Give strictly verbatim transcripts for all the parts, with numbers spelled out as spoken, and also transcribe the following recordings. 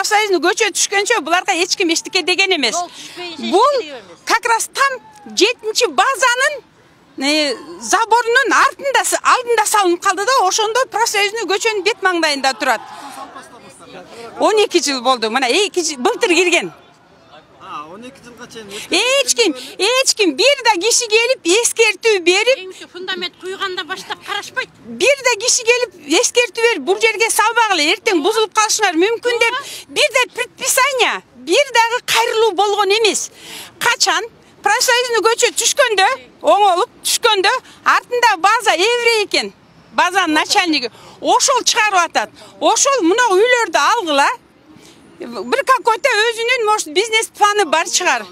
профсоюзный көчө түшкөнчө буларга эч ким эчтеке деген эмес. Бул как раз там жетинчи базанын заборунун артында алдында салынып калды да, ошондо профсоюзный көчөнүн бет маңдайында турат. он эки жыл болду. Мына эки жыл былтыр кирген. он эки жылга чейин эч ким, эч ким бир да киши келип эскертүү берип, фундамент куйганда баштап карашпайт. Бир да киши келип эскертүү берип, бул жерге салбагыла, эртең бузулуп калышыңар мүмкүн деп, бир да предписание, бир дагы кайрылуу болгон эмес. Качан профсоюзный көчө түшкөндө, оңолуп түшкөндө, артында база еврей экен. Базанын начальниги ошол чыгарып атат. Ошол мына үйлөрдү алгыла. Бир какой-то өзүнүн, может, бизнес планы бар чыгар.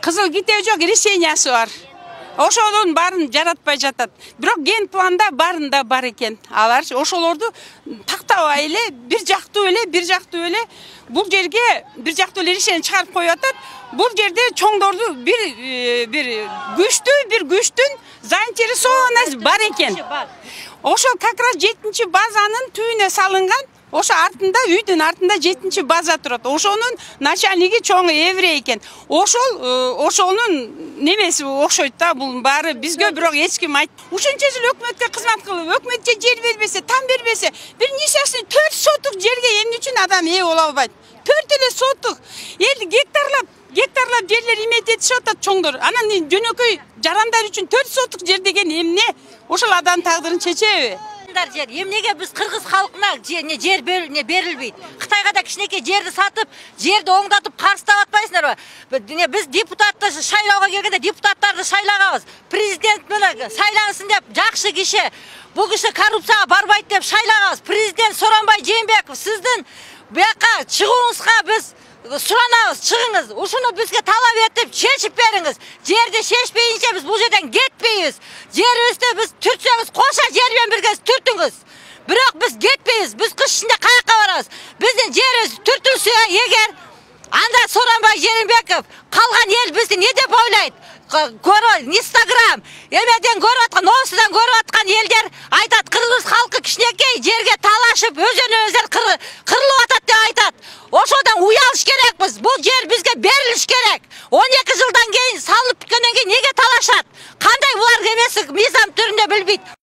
Кызыл ките жок, решениясы бар. Ошолордун баарын жаратпай жатат. Бирок ген планда барында бар экен. Алар ошолорду тактабай эле, бир жактуу эле, бир жактуу эле бул жерге бир жактуу эле решение чыгарып коюп атат. Бул жерде чоңдорду бир бир күчтүү, бир күчтүн заинтересованность бар экен. Ошол как раз жетинчи базанын түбүнө салынган. Ошо артында, үйдүн артында жетинчи база турат. Ошонун начальниги чоң еврей экен. Ошол ошонун немеси окшойт да, бул баары бизге бирок эч ким айт. Ушунча жыл өкмөткө кызмат кылып, өкмөт же жер бербесе, там бербесе, бир нечеси төрт сотук жерге эмне үчүн адам ээ боло албайт? төрт эле сотук. Эл гектарлап, гектарлап жерлер иметип этишип атат чоңдор. Анан жөнөкөй жарандар үчүн төрт сотук жер деген эмне? Ошол адам тагдырын чечеби? Жер. Эмнеге биз кыргыз халкына жер берилбейт? Кытайга да кичинекей жерди сатып, жерди оңдотуп карстап атпайсыңарбы? Биз депутатты шайлоого келгенде депутаттарды шайлаганбыз. Президент менен сайлансын деп жакшы киши, бул киши коррупцияга барбайт деп шайлаганбыз. Президент Сооронбай Жээнбеков, сиздин бияка чыгууңузга биз суранабыз, чыгыңыз. Ушуну бизге талап этип, чечип бериңиз. Жерди чечпейинче биз бул жерден кетпейбиз. Жерибизди биз түртсөңүз, кошо жер менен бирге түртүңүз. Бирок биз кетпейбиз. Биз кыш ичинде каяка барабыз? Биздин жерибиз түртүлсө эгер, анда Сооронбай Жээнбеков калган эл бизди не деп ойлойт? Көрөт, Инстаграм, эмеден көрүп аткан, осудан көрүп аткан элдер айтат, кыргыз халкы кичинекей жерге талашып, өзөн-өздөр кырылып атат деп айтат. Ошодон уялыш керекпиз. Бул жер бизге берилиш керек. он эки жылдан кийин салып бүткөндөн кийин неге талашат? Кандай булар эмеси мыйзам түрүндө билбейт.